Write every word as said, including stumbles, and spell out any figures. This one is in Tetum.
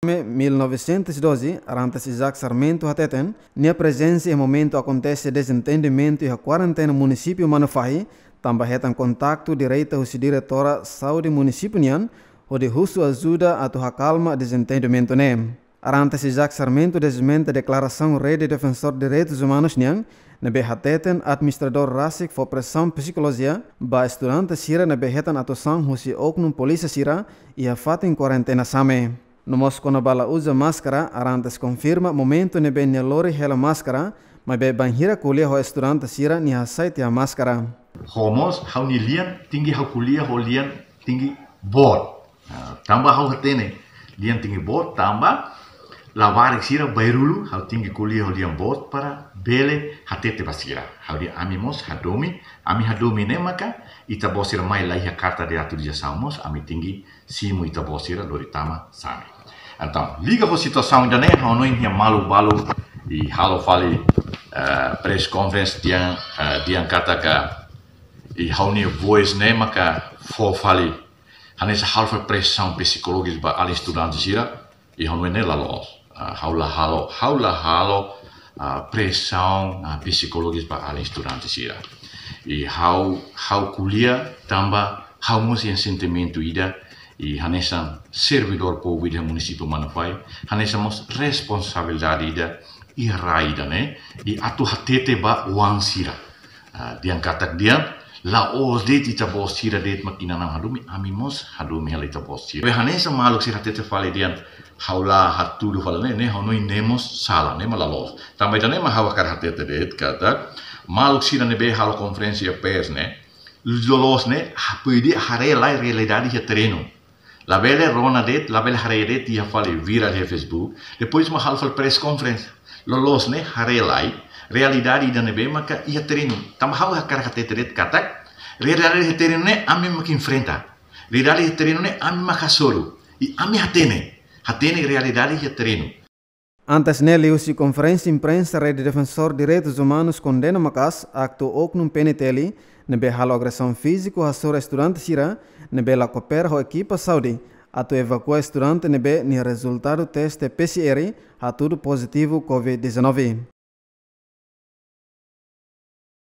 mil novecentos e doze, Arantes Isaac Sarmento hateten, nia prezensa iha momentu akontese dezentendimentu iha kuarentena munisípiu Manufahi, tanba hetan kontaktu direta husi diretora saúde munisípiu nian, hodi husu ajuda atu akalma dezentendimentu ne'e. Arantes Isaac Sarmento dezmenta deklarasaun Rede Defensor Direitus Umanus nian, ne'ebé hateten administradór rasik fó presaun psikolojia ba estudante sira ne'ebé hetan atuasaun husi oknum polísia sira iha fatin kuarentena same. No mós kona-ba la uza máskara, Arantes konfirma momentu ne'ebé nia lori hela máskara, maibé bainhira ko'alia ho estudante sira nia hasai tiha máskara. Ho mós, ha'u-nia lian tenke ha'u ko'alia ho lian tenke boot. Ah, tanba ha'u hatene, lian tenke boot, tanba labarik sira bairrulu, ha'u tenke ko'alia ho lian boot para bele hatete ba sira. Ha'u dehan ami mós hadomi, ami hadomi ne'e maka, ita-boot sira mai la iha karta de autorizasaun mós, ami tenke simu ita-boot sira lori tama same. Entaun, liga ho situasaun ida-ne'e, ha'u hanoin nia malu balu, i halo fali, eh, press conference dehan, eh, dehan katak, i ha'u-nia voice ne'e maka fó fali, hanesan halo fali presaun psikolojis ba alin estudante sira, i ha'u hanoin ne'e la loos. Ah, ha'u la halo, ha'u la halo, ah, presaun, ah, psikolojis ba alin estudante sira. I ha'u, ha'u ko'alia tanba ha'u mós iha sentimentu ida, i hanesan servidór públiku iha munisípiu Manufahi, hanesan mós responsabilidade ida, iha rai ida-ne'e, i atu hatete ba oan sira. Ah, dehan katak dehan, la'ós de'it ita-boot sira de'it mak inan-aman hadomi, ami mós hadomi hela ita-boot sira. Be hanesan maluk sira hatete fali dehan, ha'u la hatudu fali ne'e, ne'e ha'u hanoin ne'e mós sala, ne'e mak la loos. Tanba ida-ne'e mak ha'u hakarak hatete de'it katak, maluk sira ne'ebé halo konferénsia pers ne'e, loloos ne'e, ha-, pidi haree lai realidade iha terrenu. Labele rona de'it, labele haree de'it iha fali viral iha Facebook. Depois mak halo fali press conference. Loloos ne'e haree lai realidade ida ne'ebé maka iha terrenu. Tanba ha'u hakarak hatete de'it katak, realidade iha terrenu ne'e ami mak enfrenta. Realidade iha terrenu ne'e ami mak hasoru. I ami hatene. Hatene realidade iha terrenu. Antes ne'e liuhusi konferénsia imprensa Rede Defensor Direitus Umanus kondena maka'as aktu oknum P N T L ne'ebé halo agresaun fíziku hasoru estudante sira ne'ebé la koopera ho ekipa saúde atu evakua estudante ne'ebé nia rezultadu teste P C R hatudu pozitivu covid dezanove.